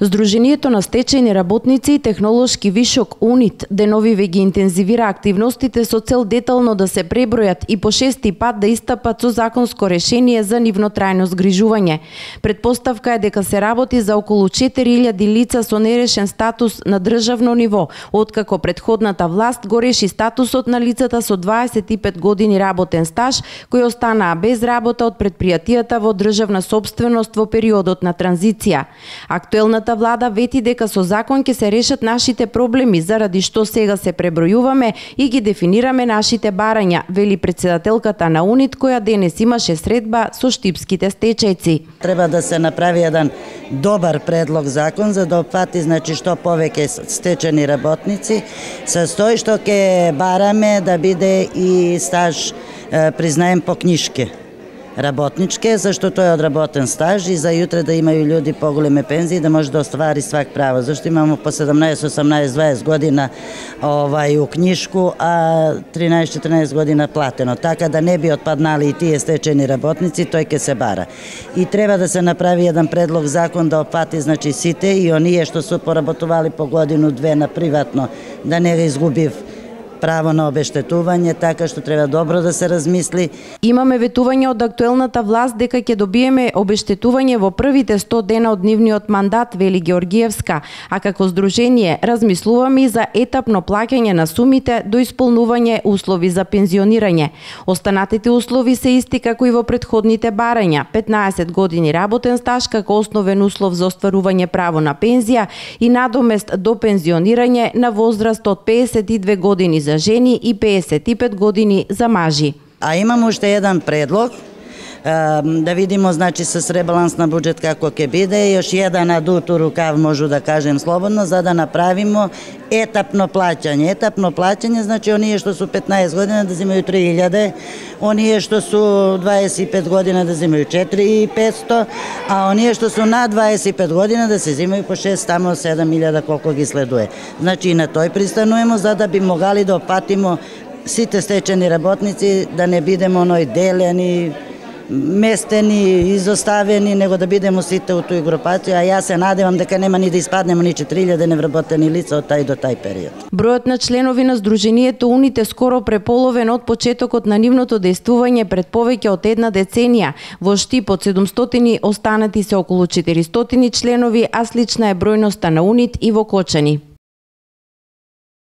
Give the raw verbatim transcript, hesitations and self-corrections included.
Здруженијето на стечајни работници и технолошки вишок УНИТ деновиве ги интензивира активностите со цел детално да се пребројат и по шести пат да истапат со законско решение за нивно трајно згрижување. Предпоставка е дека се работи за околу четири илјади лица со нерешен статус на државно ниво, откако претходната власт го реши статусот на лицата со дваесет и пет години работен стаж кои останаа без работа од претпријатијата во државна сопственост во периодот на транзиција. Актуелната влада вети дека со закон ќе се решат нашите проблеми, заради што сега се пребројуваме и ги дефинираме нашите барања, вели председателката на УНИТ, која денес имаше средба со штипските стечајци. Треба да се направи еден добар предлог закон за да опфати значи што повеќе стечени работници, со тој што ќе бараме да биде и стаж признаем по книшке работничке, зашто тој е одработен стаж и за јутре да имају луѓе поголеме пензии да може да оствари свак право. Зашто имамо по седумнаесет, осумнаесет, дваесет година овај у книшку, а тринаесет, четинаесет година платено. Така да не би отпаднали и тие стечени работници, тој ќе се бара. И треба да се направи еден предлог закон да опфати значи сите и оние што се поработували по годину две на приватно да не ги изгубив право на обештетување, така што треба добро да се размисли. Имаме ветување од актуелната власт дека ќе добиеме обештетување во првите сто дена од нивниот мандат, вели Георгиевска, а како здружение размислуваме и за етапно плаќање на сумите до исполнување услови за пензионирање. Останатите услови се исти како и во претходните барања: петнаесет години работен стаж како основен услов за остварување право на пензија и надомест до пензионирање на возраст од пеесет и две години за жени и пеесет и пет години за мажи. А имам уште еден предлог, да видимо значи со ребаланс на буџет како ќе биде, још еден адут у рукав можу да кажем слободно, за да направимо етапно плаќање. Етапно плаќање значи оние што су петнаесет година да земају три илјади, оние што су дваесет и пет година да земају четири илјади и петсто, а оние што су над дваесет и пет година да се земају по шест, тамо седам илјади колку ги следуе. Значи и на тој пристануваме за да би могали да опатимо сите стечени работници, да не бидеме оној делени, местени, изоставени, него да бидеме сите у тој групација, а јас се надевам дека нема ни да испаднемо ни четири илјади невработени лица од тај до тај период. Бројот на членови на здруженијето УНИТ е скоро преполовен од почетокот на нивното дејствување пред повеќе од една деценија. Во Штип од седумстотини останати се околу четиристотини членови, а слична е бројноста на УНИТ и во Кочани.